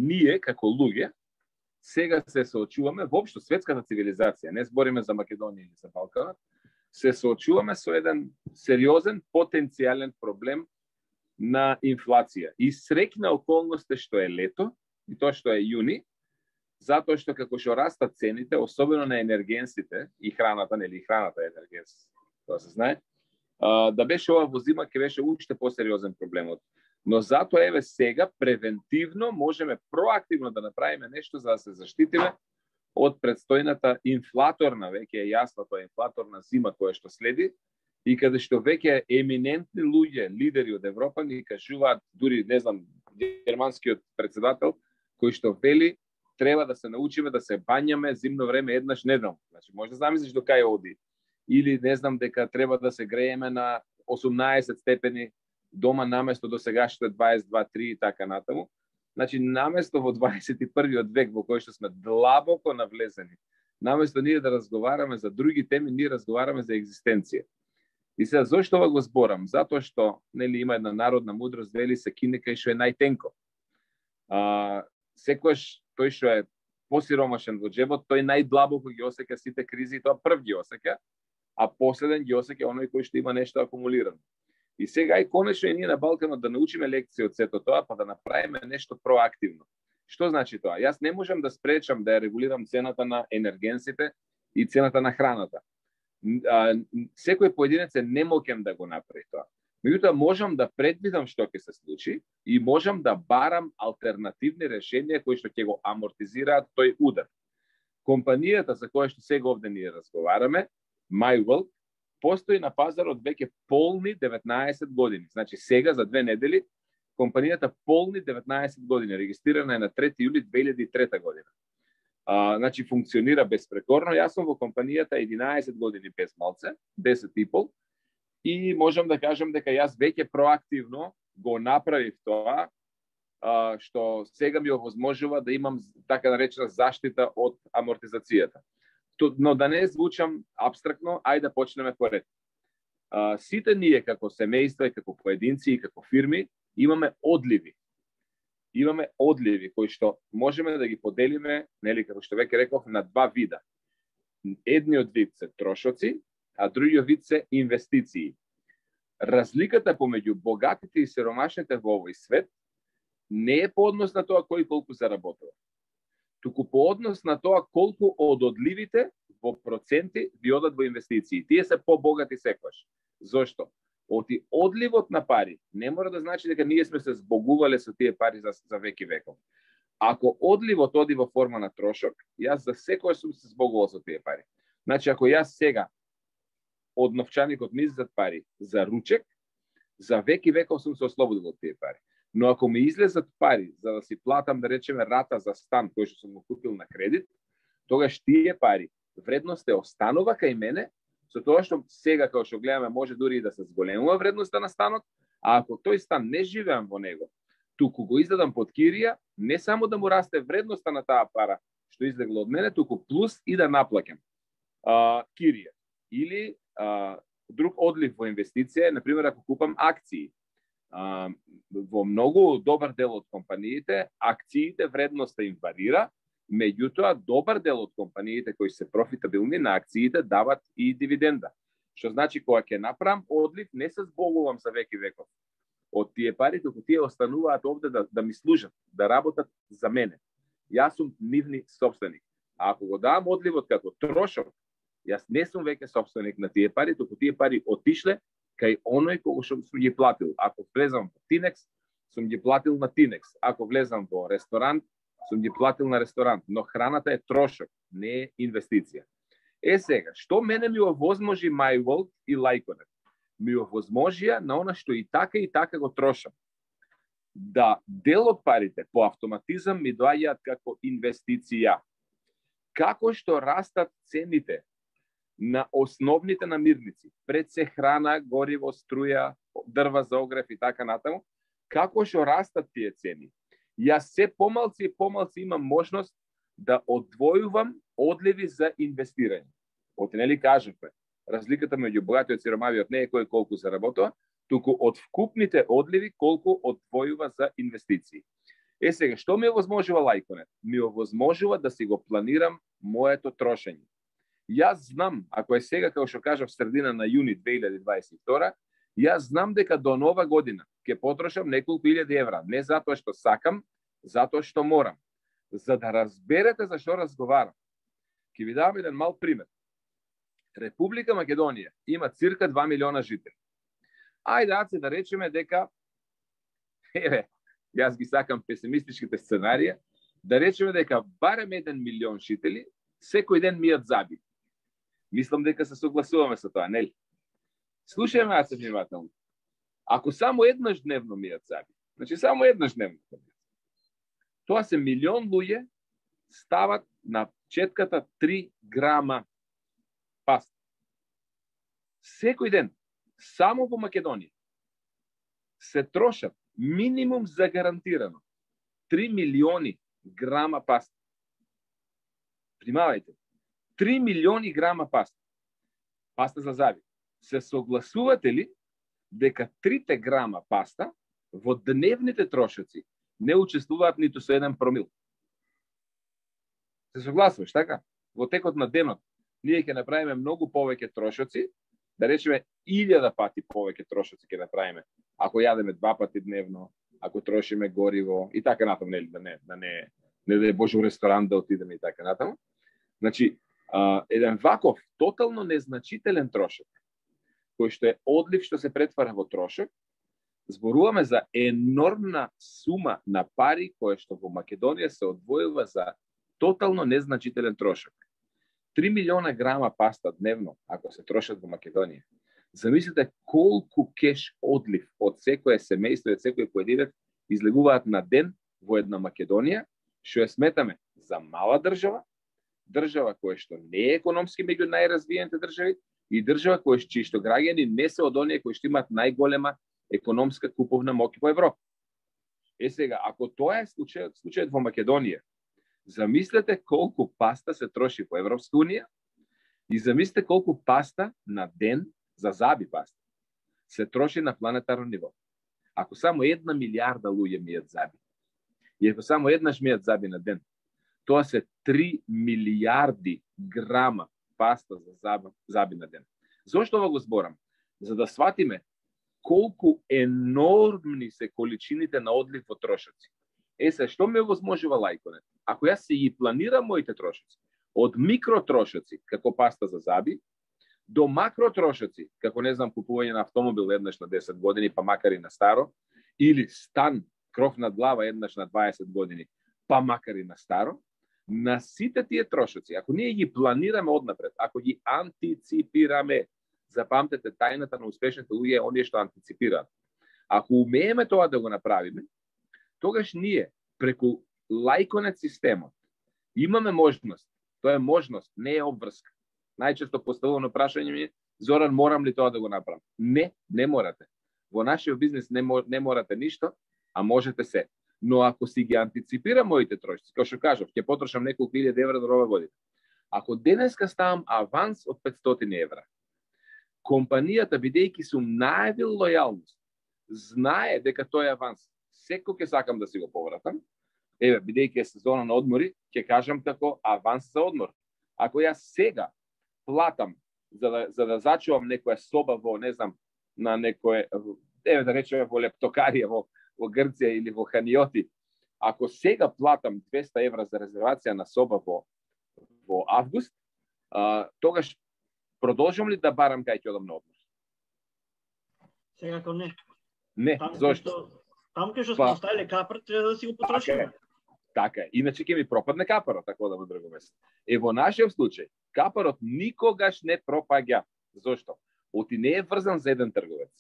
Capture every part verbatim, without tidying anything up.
ние како луѓе сега се соочуваме, воопшто светската цивилизација, не збориме за Македонија или за Балканот, се соочуваме со еден сериозен потенцијален проблем на инфлација. И среќна околност е што е лето, и тоа што е јуни, затоа што како што растат цените, особено на енергенсите и храната, нели храната е енергенс, тоа се знае, да беше ова во зима ќе беше уште посериозен проблемот. Но затоа еве сега превентивно можеме проактивно да направиме нешто за да се заштитиме од предстојната инфлаторна, веќе е јасно тоа инфлаторна зима која што следи, и каде што веќе еминентни луѓе, лидери од Европа ни кажуваат, дури не знам, германскиот председател кој што вели треба да се научиме да се бањаме зимно време еднаш неделно. Значи може да замислиш до кај оди. Или не знам дека треба да се грееме на осумнаесет степени дома наместо до сегашните дваесет и два три и така натаму. Значи наместо во дваесет и првиот век во кој што сме длабоко навлезени, наместо ние да разговараме за други теми, ние разговараме за екзистенција. И сега зошто ова го зборам? Затоа што нели има една народна мудрост, вели се кине кај што е најтенко. А, секојаш тој што е посиромашен во џебот, тој најдлабоко ги осеќа сите кризи, тоа прв ги осеќа, а последен ги осеќа оној кој што има нешто акумулирано. И сега и конечно и ние на Балканот да научиме лекција од сето тоа, па да направиме нешто проактивно. Што значи тоа? Јас не можам да спречам да ја регулирам цената на енергенсите и цената на храната. Секој поединец е немоќен да го направи тоа. Меѓутоа можам да предвидам што ќе се случи и можам да барам алтернативни решенија кои што ќе го амортизираат тој удар. Компанијата за која што сега овде ние разговараме, MyWorld, постои на пазарот веќе полни деветнаесет години. Значи сега за две недели компанијата полни деветнаесет години, регистрирана е на трети јули две илјади и трета година. А, значи функционира безпрекорно. Јас сум во компанијата единаесет години без малце, десет и пол, и можам да кажам дека јас веќе проактивно го направив тоа, а, што сега ми овозможува да имам така наречена заштита од амортизацијата. Но да не звучам абстрактно, ајде да почнеме поред. А, сите ние како семејства, како поединци и како фирми имаме одливи. Имаме одливи кои што можеме да ги поделиме, нели како што веќе реков, на два вида. Едниот вид се трошоци, а другиот вид се инвестиции. Разликата помеѓу богатите и сиромашните во овој свет не е по однос на тоа кој колку заработува, туку по однос на тоа колку од одливите во проценти ви одат во инвестиции. Тие се побогати секогаш. Зошто? Оти одливот на пари не мора да значи дека ние сме се збогувале со тие пари за, за веки веков. Ако одливот оди во форма на трошок, јас за секој сум се збогувал со тие пари. Значи, ако јас сега од новчаникот ми излезат пари за ручек, за веки веков сум се ослободил од тие пари. Но ако ми излезат пари за да си платам, да речеме, рата за стан кој што сум го купил на кредит, тогаш тие пари вредност е останува кај мене, со тоа што сега како што гледаме може дури и да се зголемува вредноста на станот, а ако тој стан не живеам во него, туку го издадам под кирија, не само да му расте вредноста на таа пара што излегла од мене, туку плюс и да наплаќам а, кирија. Или а, друг одлив во инвестиција, например, ако купам акции. А, во многу добар дел од компаниите, акциите вредноста им варира, меѓутоа добар дел од компаниите кои се профитабилни на акциите дават и дивиденда. Што значи кога ќе направам одлив, не се збогувам за веки веков од тие пари, туку тие остануваат овде да, да ми служат, да работат за мене. Јас сум нивни собственик. А ако го давам одливот како трошок, јас не сум веќе собственик на тие пари, туку тие пари отишле кај оној кој што сум ги платил. Ако влезам во Тинекс, сум ги платил на Тинекс. Ако влезам во ресторант, сум ги платил на ресторант. Но храната е трошок, не е инвестиција. Е сега, што мене ми овозможи MyWorld и Лајконет? Ми овозможија на она што и така и така го трошам. Да дел од парите по автоматизам ми доаѓаат како инвестиција. Како што растат цените на основните намирници, пред се храна, гориво, струја, дрва за огрев и така натаму, како што растат тие цени, јас се помалци и помалци имам можност да одвојувам одливи за инвестирање. Оти нели кажавме, разликата меѓу богатиот и сиромавиот не е кој колку заработува, туку од вкупните одливи колку одвојува за инвестиции. Е сега, што ми овозможува Лајконет? Ми овозможува да си го планирам моето трошење. Јас знам, ако е сега, како што кажав, средина на јуни две илјади дваесет и втора, јас знам дека до нова година ќе потрошам неколку илјади евра. Не затоа што сакам, затоа што морам. За да разберете за што разговарам, ќе ви дам еден мал пример. Република Македонија има цирка два милиона жители. Ајде, аце да речеме дека, еве, јас ги сакам песимистичките сценарија, да речеме дека барем еден милион жители секој ден мијат заби. Мислам дека се согласуваме со тоа, нели? Слушајме аце внимателно. Ако само еднаш дневно мијат заби, значи само еднаш дневно, тоа се милион луѓе стават на четката три грама паста. Секој ден, само во Македонија, се трошат минимум загарантирано три милиони грама паста. Примавајте, три милиони грама паста. Паста за заби. Се согласувате ли дека трите грама паста во дневните трошоци не учествуваат ниту со еден промил? Се согласуваш, така? Во текот на денот ние ќе направиме многу повеќе трошоци, да речеме илјада пати повеќе трошоци ќе направиме, ако јадеме два пати дневно, ако трошиме гориво и така натаму, нели, да не, да не, не да е Боже у ресторан да отидеме и така натаму. Значи, а, еден ваков тотално незначителен трошок, кој што е одлив што се претвара во трошок, зборуваме за енормна сума на пари која што во Македонија се одвојува за тотално незначителен трошок. три милиона грама паста дневно, ако се трошат во Македонија. Замислете колку кеш одлив од секое семејство и од секој поединец излегуваат на ден во една Македонија, што ја сметаме за мала држава, држава која што не е економски меѓу најразвиените држави и држава која чии што граѓани не се од оние кои што имаат најголема економска куповна моќ во Европа. Е сега, ако тоа е случајот, случајот во Македонија, замислете колку паста се троши во Европска унија и замислете колку паста на ден за заби паста се троши на планетарно ниво. Ако само една милиарда луѓе мијат заби, и ако само еднаш мијат заби на ден, тоа се три милиарди грама паста за заби, заби на ден. Зошто ова го зборам? За да сватиме колку енормни се количините на одлив во трошоци. Е, се, што ме возможува Лајконет? Ако јас се и планирам моите трошоци, од микротрошоци, како паста за заби, до макротрошоци, како не знам, купување на автомобил еднаш на десет години, па макар и на старо, или стан, кров над глава еднаш на дваесет години, па макар и на старо, на сите тие трошоци, ако ние ги планираме однапред, ако ги антиципираме, запамтете тајната на успешните луѓе, оние што антиципираат. Ако умееме тоа да го направиме, тогаш ние преку Лајконет системот имаме можност, тоа е можност, не е обврска. Најчесто поставувано прашање ми е, Зоран, морам ли тоа да го направам? Не, не морате. Во нашиот бизнес не, не морате ништо, а можете се. Но ако си ги антиципирам моите трошоци, како што кажав, ќе потрошам неколку илјади евра до нова година. Ако денеска ставам аванс од петстотини евра, компанијата, бидејќи сум најавил лојалност, знае дека тој аванс секој ќе сакам да си го повратам. Еве, бидејќи е сезона на одмори, ќе кажам како аванс за одмор. Ако јас сега платам за да, за да зачувам некоја соба во, не знам, на некој, еве да речеме во Лептокарија, во, во Грција или во Ханиоти, ако сега платам двеста евра за резервација на соба во, во август, а, тогаш продолжам ли да барам кај ќе одам на одмор? Секако не. Не, там зошто? Таму кај што сме оставиле капар, треба да си го потрошиме. Така е. Иначе ќе ми пропадне капарот, така да во друго место. Е, во нашиот случај, капарот никогаш не пропаѓа. Зошто? Оти не е врзан за еден трговец.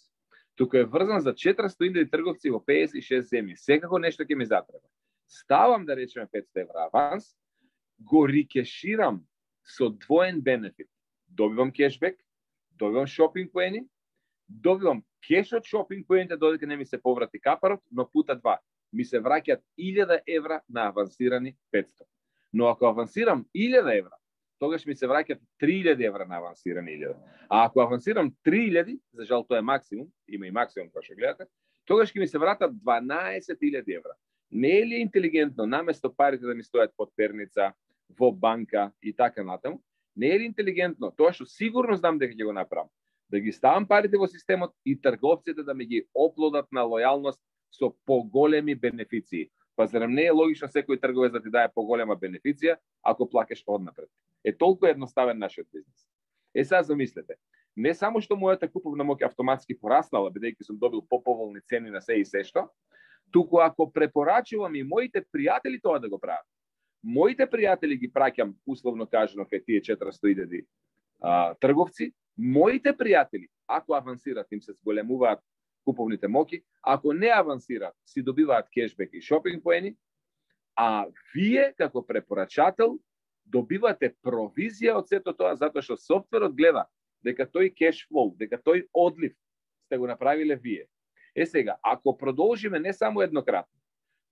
Туку е врзан за четиристотини илјади трговци во педесет и шест земји. Секако нешто ќе ми затреба. Ставам, да речеме, петстотини евра аванс, го рикеширам со двоен бенефит. Добивам кешбек, добивам шопинг поени, добивам кеш од шопинг поените додека не ми се поврати капарот, но пута два. Ми се враќаат илјада евра на авансирани петстотини. Но ако авансирам илјада евра, тогаш ми се враќаат три илјади евра на авансирани илјада. А ако авансирам три илјади, за жал тоа е максимум, има и максимум како што гледате, тогаш ќе ми се вратат дванаесет илјади евра. Не е ли интелигентно, наместо парите да ми стоят под перница, во банка и така натаму, не е ли интелигентно, тоа што сигурно знам дека ќе го направам, да ги ставам парите во системот и трговците да ми ги оплодат на лојалност со поголеми бенефиции. Па зарем не е логично секој трговец да ти даде поголема бенефиција ако плакаш однапред? Е толку едноставен нашиот бизнес. Е сега замислете, не само што мојата куповна моќ автоматски пораснала, бидејќи сум добил поповолни цени на се и се што, туку ако препорачувам и моите пријатели тоа да го прават. Моите пријатели ги праќам, условно кажано, кај тие четиристотини илјади трговци, моите пријатели, ако авансират, им се зголемуваат куповните моќи, ако не авансират, си добиваат кешбек и шопинг поени, а вие, како препорачател, добивате провизија од сето тоа, затоа што софтверот гледа дека тој кеш флоу, дека тој одлив сте го направиле вие. Е сега, ако продолжиме не само еднократно,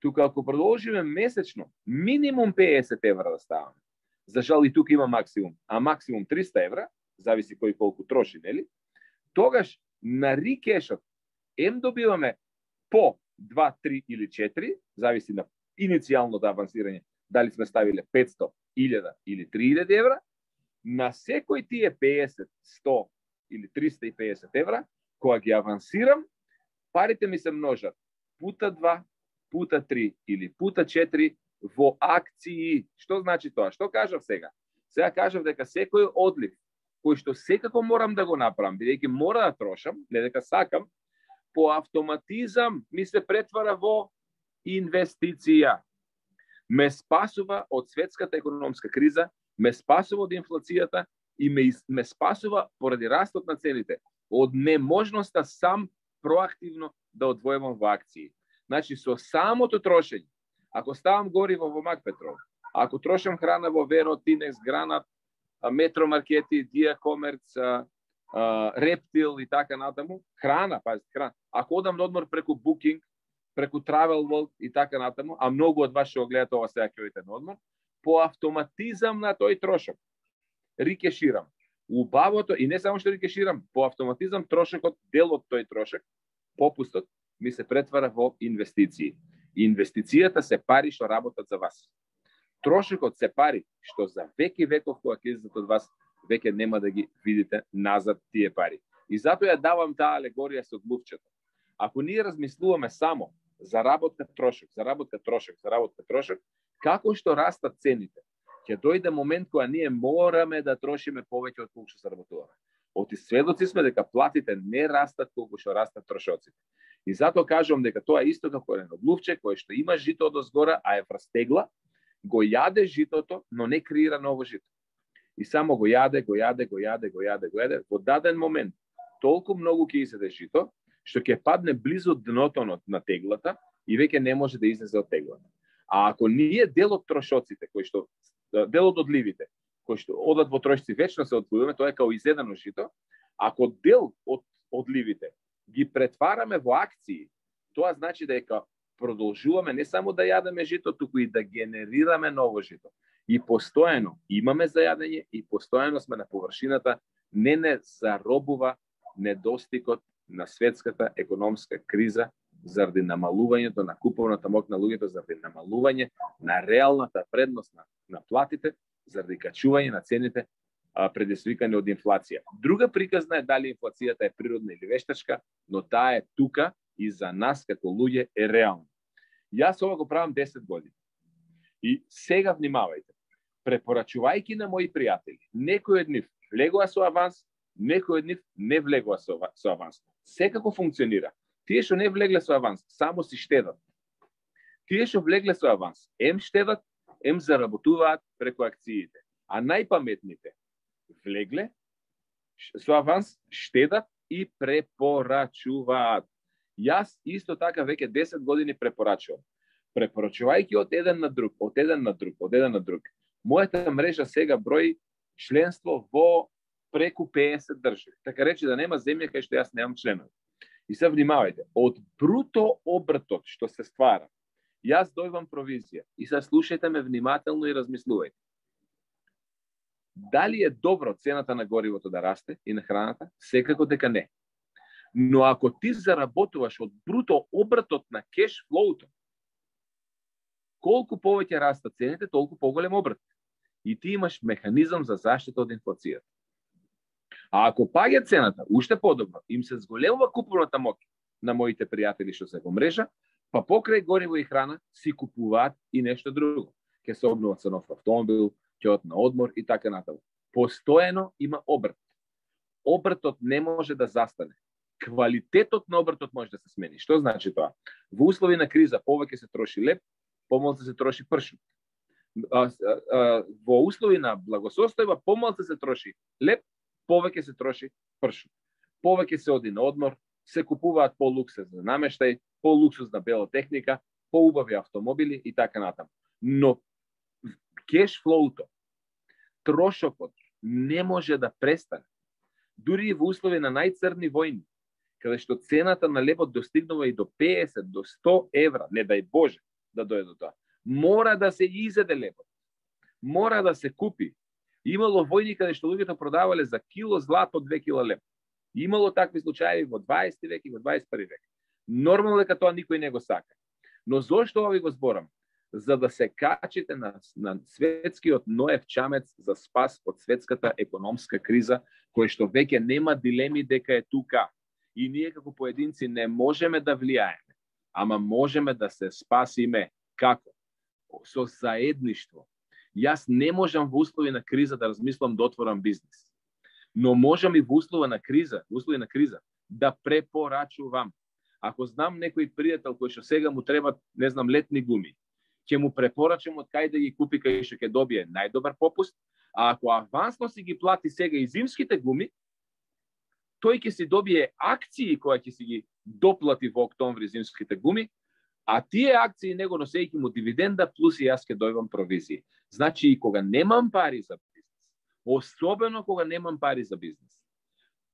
туку ако продолжиме месечно, минимум песет евра да ставаме. За жал и тука има максимум, а максимум триста евра, зависи кој колку троши, нели? Тогаш на рикешот ем добиваме по два, три или четири, зависи на иницијалното авансирање, дали сме ставиле петсто, илјада или три илјади евра, на секој тие песет, сто или триста и песет евра, кога ги авансирам, парите ми се множат пута два, пута три или пута четири во акции. Што значи тоа? Што кажав сега? Сега кажав дека секој одлив, кој што секако морам да го направам, бидејќи мора да трошам, не дека сакам, по автоматизам ми се претвара во инвестиција. Ме спасува од светската економска криза, ме спасува од инфлацијата и ме, ме спасува поради растот на цените, од неможноста сам проактивно да одвојувам во акции. Значи, со самото трошење, ако ставам гориво во Макпетрол, ако трошам храна во Веро, Тинекс, Гранат, Метромаркети, Диакомерц, Рептил и така натаму, храна, пазите, храна. Ако одам на одмор преку Booking, преку Travel World и така натаму, а многу од вас што го гледате ова сега ќе одите на одмор, по автоматизам на тој трошок рикеширам. Убавото, и не само што рикеширам, по автоматизам трошокот, дел од тој трошок, попустот, ми се претвара во инвестиции. Инвестицијата се пари што работат за вас. Трошокот се пари што за веки веков кога ќе излезат од вас, веќе нема да ги видите назад тие пари. И затоа ја давам таа алегорија со глувчето. Ако ние размислуваме само за работка трошок, за работка трошок, за работка трошок, како што растат цените, ќе дојде момент кога ние мораме да трошиме повеќе од колку што заработуваме. Оти сведоци сме дека платите не растат колку што растат трошоците. И затоа кажувам дека тоа е исто како едно глувче кое што има жито од озгора, а е врастегла, го јаде житото, но не креира ново жито. И само го јаде, го јаде, го јаде, го јаде, го јаде. Во даден момент толку многу ќе изеде жито, што ќе падне близу дното на теглата и веќе не може да излезе од теглата. А ако ние дел од трошоците, кои што дел од одливите, кои што одат во трошици вечно се одливаме, тоа е као изедено жито, ако дел од одливите ги претвараме во акции, тоа значи дека продолжуваме не само да јадеме жито, туку и да генерираме ново жито. И постојано имаме за јадење и постојано сме на површината, не не заробува недостигот на светската економска криза заради намалувањето на куповната моќ на луѓето, заради намалување на реалната предност на, на платите, заради качување на цените а, предизвикани од инфлација. Друга приказна е дали инфлацијата е природна или вештачка, но таа е тука и за нас како луѓе е реална. Јас ова го правам десет години. И сега внимавајте, препорачувајќи на мои пријатели, некој од нив влегува со аванс, некој од нив не влегува со, со аванс. Секако функционира. Тие што не влегле со аванс, само си штедат. Тие што влегле со аванс, ем штедат, ем заработуваат преку акциите. А најпаметните влегле со аванс, штедат и препорачуваат. Јас исто така веќе десет години препорачувам. Препорачувајќи од еден на друг, од еден на друг, од еден на друг. Мојата мрежа сега брои членство во преку песет држави. Така рече да нема земја кај што јас немам членови. И се внимавајте, од бруто обртот што се ствара, јас дојвам провизија. И се слушајте ме внимателно и размислувајте. Дали е добро цената на горивото да расте и на храната? Секако дека не. Но ако ти заработуваш од бруто обртот на кеш флоуто, колку повеќе растат цените, толку поголем обрт. И ти имаш механизам за заштита од инфлацијата. А ако паѓа цената, уште подобро, им се зголемува купувната моќ на моите пријатели што се во мрежа, па покрај гориво и храна си купуваат и нешто друго. Ке се обнуват со нов автомобил, ќе од на одмор и така натаму. Постојано има обрт. Обртот не може да застане. Квалитетот на обртот може да се смени. Што значи тоа? Во услови на криза повеќе се троши леп, помалку се троши пршут. Во услови на благосостојба помалку се троши леп, повеќе се троши пршут. Повеќе се оди на одмор, се купуваат полуксузна намештај, полуксузна бела техника, поубави автомобили и така натаму. Но кеш флоуто, трошокот не може да престане. Дури и во услови на најцрни војни, каде што цената на лебот достигнува и до песет до сто евра, не дај Боже да дојде до тоа. Мора да се изеде лебот. Мора да се купи. Имало војни каде што луѓето продавале за кило злато две кила леб. Имало такви случаи во дваесети век и во дваесет и први век. Нормално дека тоа никој не го сака. Но зошто ова ви го зборам? За да се качите на, на светскиот Ноев чамец за спас од светската економска криза, кој што веќе нема дилеми дека е тука. И ние како поединци не можеме да влијаеме, ама можеме да се спасиме. Како? Со заедништво. Јас не можам во услови на криза да размислам да отворам бизнис. Но можам и во услови на криза, во услови на криза да препорачувам. Ако знам некој пријател кој што сега му требат, не знам, летни гуми, ќе му препорачам од кај да ги купи, кај што ќе добие најдобар попуст, а ако авансно си ги плати сега и зимските гуми, тој ќе си добие акции кои ќе си ги доплати во октомври зимските гуми, а тие акции него носејќи му дивиденда плюс и јас ќе дојдам провизија. Значи и кога немам пари за бизнес, особено кога немам пари за бизнес,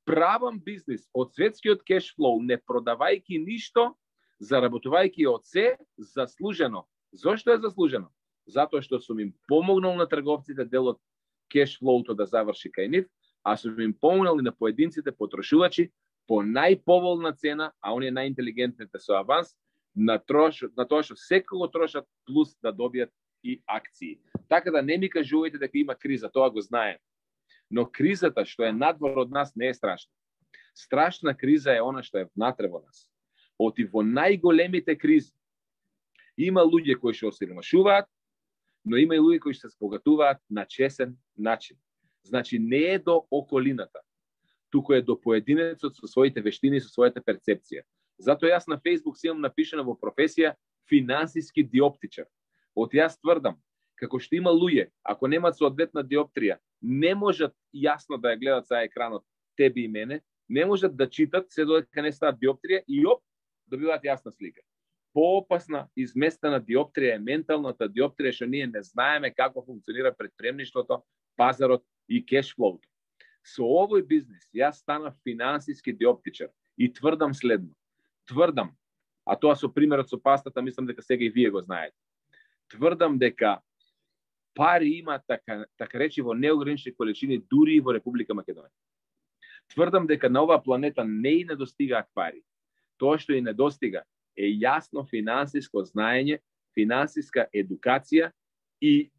правам бизнес од светскиот кеш флоу, не продавајќи ништо, заработувајќи од се заслужено. Зошто е заслужено? Затоа што сум им помогнал на трговците дел од кеш флоуто да заврши кај нив, а сум им помогнал и на поединците потрошувачи по најповолна цена, а оние најинтелигентните со аванс, на, трош, на тоа што секако трошат плюс да добијат и акции. Така да не ми кажувајте дека има криза, тоа го знаем. Но кризата што е надвор од нас не е страшна. Страшна криза е она што е внатре во нас. Оти во најголемите кризи има луѓе кои што осиромашуваат, но има и луѓе кои што се збогатуваат на чесен начин. Значи не е до околината, туку е до поединецот со своите вештини и со својата перцепција. Затоа јас на Facebook си имам напишано во професија финансиски диоптичар. Од јас тврдам, како што има луѓе, ако немаат соодветна диоптрија, не можат јасно да ја гледат за екранот тебе и мене, не можат да читат се додека не стават диоптрија и оп, добиваат јасна слика. Поопасна изместена диоптрија е менталната диоптрија што ние не знаеме како функционира предприемништвото, пазарот и кешфлоуто. Со овој бизнес јас станав финансиски диоптичар и тврдам следно. Тврдам, а тоа со примерот со пастата, мислам дека сега и вие го знаете. Тврдам дека пари има така, така речи во неограничени количини дури и во Република Македонија. Тврдам дека на оваа планета не и недостигаат пари. Тоа што и недостига е јасно финансиско знаење, финансиска едукација и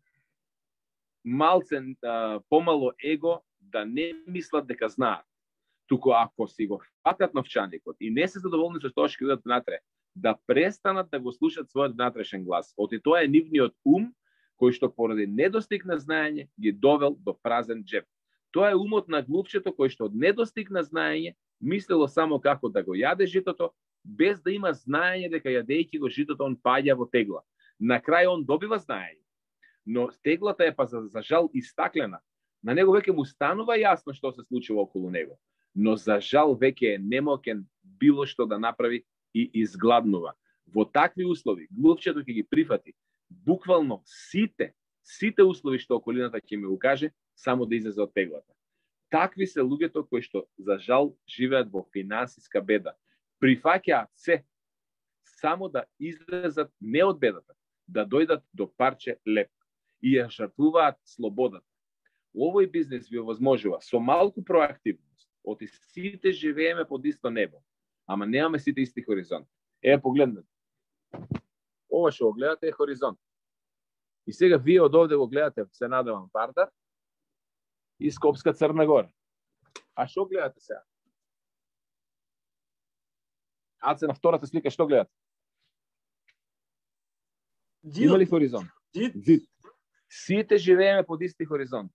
малце а, помало его да не мислат дека знаат. Туку ако си го фатат новчаникот и не се задоволни со тоа што видат внатре, да престанат да го слушат својот внатрешен глас. Оти тоа е нивниот ум кој што поради недостиг на знаење ги довел до празен джеб. Тоа е умот на глупчето кој што од недостиг на знаење мислело само како да го јаде житото, без да има знаење дека јадејќи го житото он паѓа во тегла. На крај он добива знаење, но теглата е па за, за жал истаклена. На него веќе му станува јасно што се случува околу него, но за жал веќе е немокен било што да направи и изгладнува. Во такви услови глупчето ќе ги прифати буквално сите, сите услови што околината ќе ми укаже, само да излезе од теглата. Такви се луѓето кои што за жал живеат во финансиска беда. Прифаќаат се само да излезат не од бедата, да дојдат до парче леп и ја жртвуваат слободата. Овој бизнес ви овозможува со малку проактивност. Оти сите живееме под исто небо, ама немаме сите исти хоризонт. Е, погледнете. Ова што го гледате е хоризонт. И сега вие од овде го гледате, се надевам, Вардар и Скопска Црна Гора. А што гледате сега? Аце на втората слика што гледате? Има ли хоризонт? Зид. Зид. Сите живееме под исти хоризонт.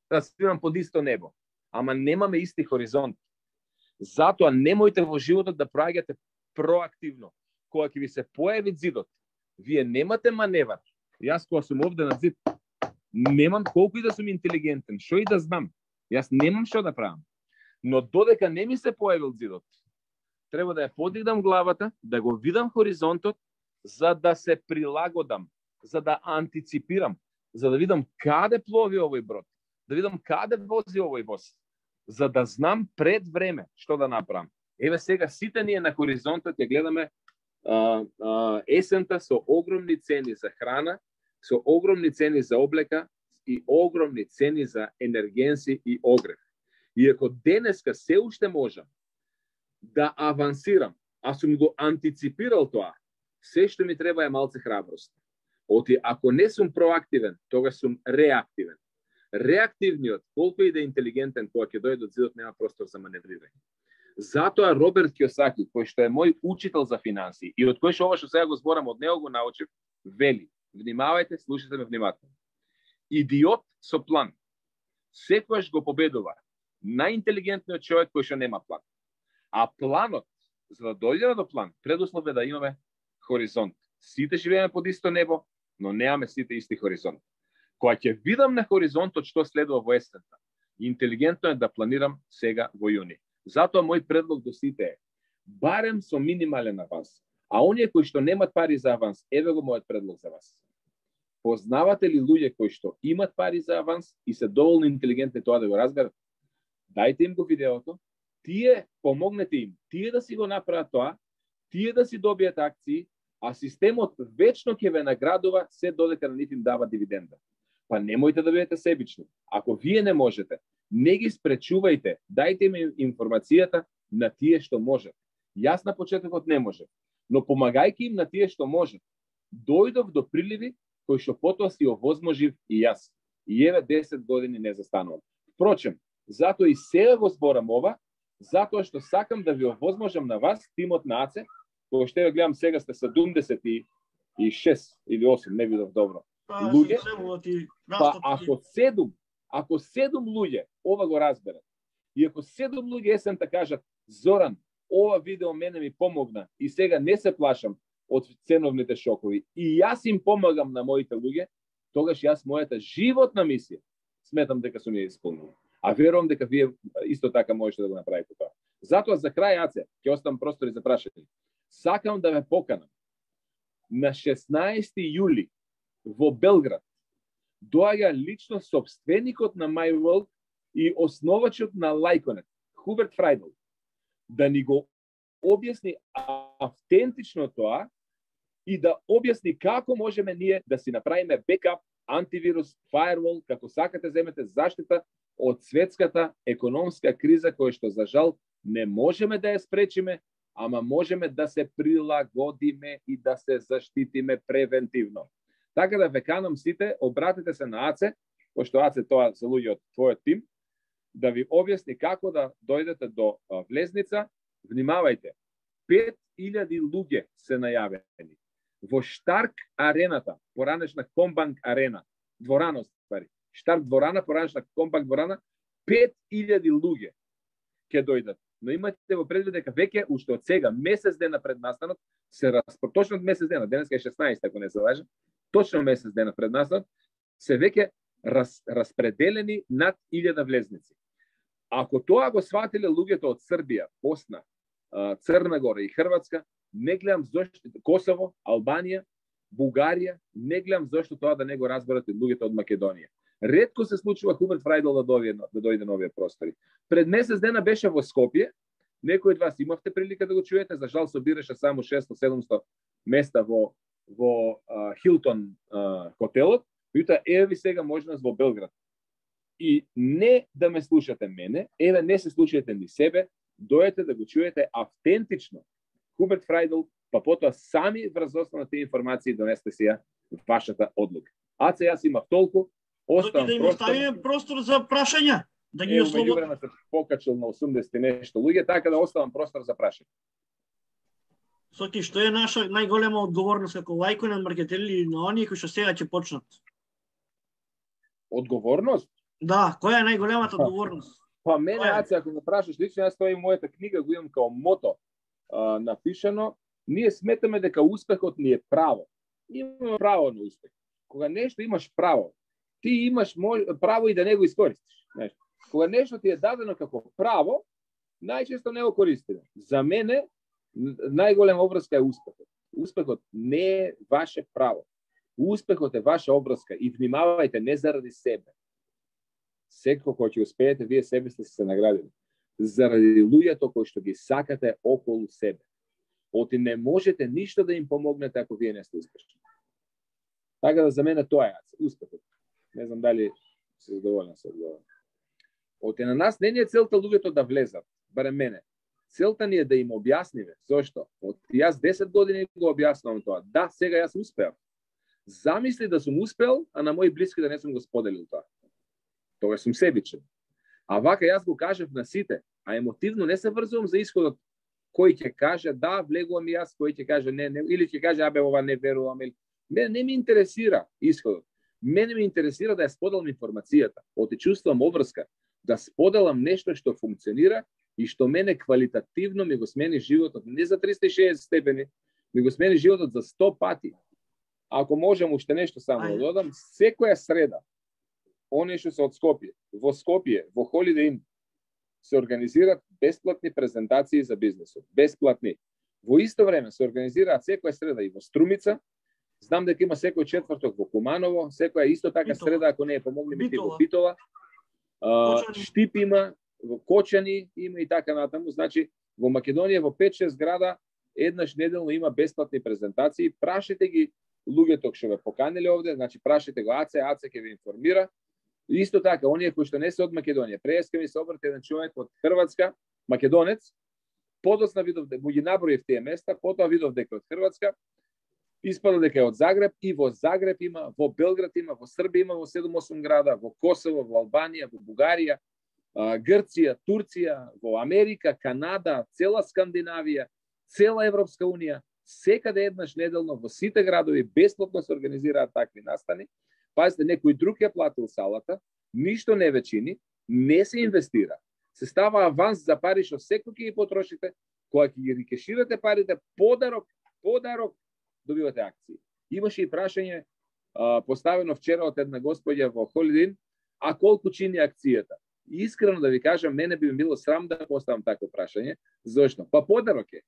Да спивам под исто небо. Ама немаме исти хоризонт. Затоа немојте во животот да праќате проактивно. Кога ќе ви се појави зидот, вие немате маневар. Јас кога сум овде на зид, немам колку и да сум интелигентен, што и да знам. Јас немам што да правам. Но додека не ми се појавил зидот, треба да ја подигнам главата, да го видам хоризонтот, за да се прилагодам, за да антиципирам, за да видам каде плови овој брод, да видам каде вози овој воз, за да знам пред време што да направам. Еве сега сите ние на хоризонтот ја гледаме а, а, есента со огромни цени за храна, со огромни цени за облека и огромни цени за енергенси и огрев. И ако денеска се уште можам да авансирам, а сум го антиципирал тоа, се што ми треба е малце храброст. Оти, ако не сум проактивен, тогаш сум реактивен. Реактивниот, колку и да е интелигентен, кога ќе дојде од зидот, нема простор за маневрирање. Затоа Роберт Киосаки, кој што е мој учител за финансии и од кој што ова што сега го зборам од него го научив, вели, внимавајте, слушате ме внимателно. Идиот со план секогаш го победува најинтелигентниот човек кој што нема план. А планот, за да дојдеме до план, предуслов е да имаме хоризонт. Сите живееме под исто небо, но немаме сите исти хоризонт. Кога ќе видам на хоризонтот што следува во есента, интелигентно е да планирам сега во јуни. Затоа мој предлог до сите е, барем со минимален аванс, а оние кои што немат пари за аванс, еве го мојот предлог за вас. Познавате ли луѓе кои што имат пари за аванс и се доволно интелигентни тоа да го разберат? Дајте им го видеото, тие помогнете им, тие да си го направат тоа, тие да си добијат акции, а системот вечно ќе ве наградува се додека на нив им дава дивиденда. Па немојте да бидете себични. Ако вие не можете, не ги спречувајте, дајте им информацијата на тие што можат. Јас на почетокот не можев, но помагајќи им на тие што можат, дојдов до приливи кои што потоа си овозможив и јас. И еве десет години не застанувам. Впрочем, затоа и сега го зборам ова, затоа што сакам да ви овозможам на вас, тимот на АЦЕ, кој што ја гледам сега сте седумдесет и шест или осум, не видов добро. Луѓе, па ако седум, ако седум луѓе ова го разберат, и ако седум луѓе есента кажат, Зоран, ова видео мене ми помогна и сега не се плашам од ценовните шокови и јас им помагам на моите луѓе, тогаш јас мојата животна мисија сметам дека сум ја исполнил. А верувам дека вие исто така можете да го направите тоа. Затоа за крај, Аце, ќе оставам простори за прашање. Сакам да ве поканам на шеснаесети јули во Белград. Доаѓа лично собственикот на MyWorld и основачот на Лајконет, Хуберт Фрајдл, да ни го објасни автентично тоа и да објасни како можеме ние да си направиме бекап, антивирус, firewall, како сакате земете заштита од светската економска криза која што за жал не можеме да ја спречиме, ама можеме да се прилагодиме и да се заштитиме превентивно. Така да ве канам сите, обратете се на АЦЕ, пошто АЦЕ тоа се луѓе од твојот тим, да ви објасни како да дојдете до влезница. Внимавајте, пет илјади луѓе се најавени. Во Штарк арената, поранешна Комбанк арена, дворана, ствари, Штарк дворана, поранешна Комбанк дворана, пет илјади луѓе ќе дојдат. Но имате во предвид дека веќе уште од сега, месец дена пред настанот, се распро... точно од месец дена, денеска е шеснаесет, ако не се лажам, точно месец дена пред настанот, се веќе раз... распределени над илјада влезници. Ако тоа го сватиле луѓето од Србија, Босна, Црна Гора и Хрватска, не гледам зошто Косово, Албанија, Бугарија, не гледам зошто тоа да не го разберат и луѓето од Македонија. Ретко се случува Хуберт Фрајдл да дојде, да дојде на овие простори. Пред месец дена беше во Скопје, некои од вас имавте прилика да го чуете, за жал собираше само шесто-седумсто места во во Хилтон хотелот, јута еве ви сега можност во Белград. И не да ме слушате мене, еве не се слушајте ни себе, дојдете да го чуете автентично Хуберт Фрајдл, па потоа сами врз основа на тие информации донесете си ја вашата одлука. Аце јас имав толку, оставам да им оставиме простор за прашања, да ги ослободиме. Меѓу време се покачил на осумдесет и нешто луѓе, така да оставам простор за прашање. Соки, што е наша најголема одговорност како лајко на маркетери или на оние кои што сега ќе почнат? Одговорност? Да, која е најголемата одговорност? Па мене, Аце, ако ме прашаш лично, јас тоа и мојата книга го имам као мото а, напишано, ние сметаме дека успехот ни е право. Имаме право на успех. Кога нешто имаш право, ти имаш мож... право и да не го искористиш. Нешто. Кога нешто ти е дадено како право, најчесто не го користиме. За мене, најголема обврска е успехот. Успехот не е ваше право. Успехот е ваша обврска и внимавајте не заради себе. Секој кој ќе успеете, вие себе сте се наградили. Заради луѓето кои што ги сакате околу себе. Оти не можете ништо да им помогнете ако вие не сте успешни. Така да за мене тоа е успехот. Не знам дали се задоволен со одговорот. Оти на нас не ни е целта луѓето да влезат, барем мене. Целта ни е да им објасниме. Зошто? Од јас десет години го објаснувам тоа. Да, сега јас успеав. Замисли да сум успел, а на мои блиски да не сум го споделил тоа. Тоа сум себичен. А вака јас го кажав на сите, а емотивно не се врзувам за исходот. Кој ќе каже да, влегувам и јас, кој ќе каже не, не, или ќе каже абе ова не верувам, или мене не ми интересира исходот. Мене ми интересира да ја споделам информацијата. Оти чувствувам обврска да споделам нешто што функционира и што мене квалитативно ми го смени животот не за триста и шеесет степени, ми го смени животот за сто пати. Ако можам уште нешто само да додам, секоја среда, оние што се од Скопје, во Скопје, во Holiday Inn, се организираат бесплатни презентации за бизнесот. Бесплатни. Во исто време се организираат секоја среда и во Струмица. Знам дека има секој четврток во Куманово, секоја исто така Битола. среда, ако не е помогнеме ти во Битола. А, Штип има, во Кочани има и така натаму. Значи, во Македонија во пет-шест града еднаш неделно има бесплатни презентации. Прашете ги луѓето што ве поканиле овде, значи прашете го Аце, Аце ќе ве информира. Исто така, оние кои што не се од Македонија, преска ми се обрати еден човек од Хрватска, македонец, подоцна видов дека ги наброив тие места, потоа видов дека од Хрватска, испада дека е од Загреб и во Загреб има, во Белград има, во Србија има во седум-осум града, во Косово, во Албанија, во Бугарија, Грција, Турција, во Америка, Канада, цела Скандинавија, цела Европска унија, секаде еднаш неделно во сите градови бесплатно се организираат такви настани. Пазите, некој друг ја платил салата, ништо не вечини, не се инвестира. Се става аванс за пари што секој ќе ги потрошите, кога ќе ги рикеширате парите, подарок, подарок, добивате акции. Имаше и прашање а, поставено вчера од една господја во Holiday Inn, а колку чини акцијата? И искрено да ви кажам, мене би ми било срам да поставам такво прашање. Зошто? Па подарок е.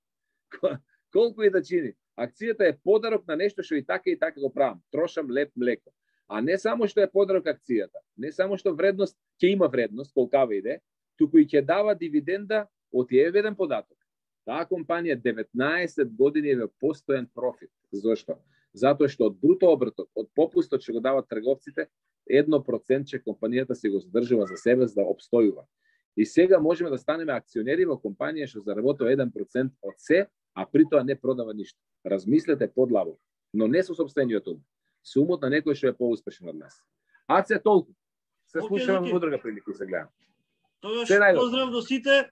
Колку и да чини? Акцијата е подарок на нешто што и така и така го правам. Трошам леп млеко. А не само што е подарок акцијата, не само што вредност ќе има вредност, колкава иде, туку и ќе дава дивиденда од еден податок. Таа компанија деветнаесет години е во постојан профит. Зошто? Затоа што од бруто обртот, од попустот што го дават трговците, едно процентче компанијата се го задржува за себе за да обстојува. И сега можеме да станеме акционери во компанија што заработува еден процент од се, а при тоа не продава ништо. Размислете подлабо, но не со сопствениот ум. Со умот на некој што е поуспешен од нас. Аце толку. Се слушаме во друга прилика и се гледам. Тогаш поздрав до сите.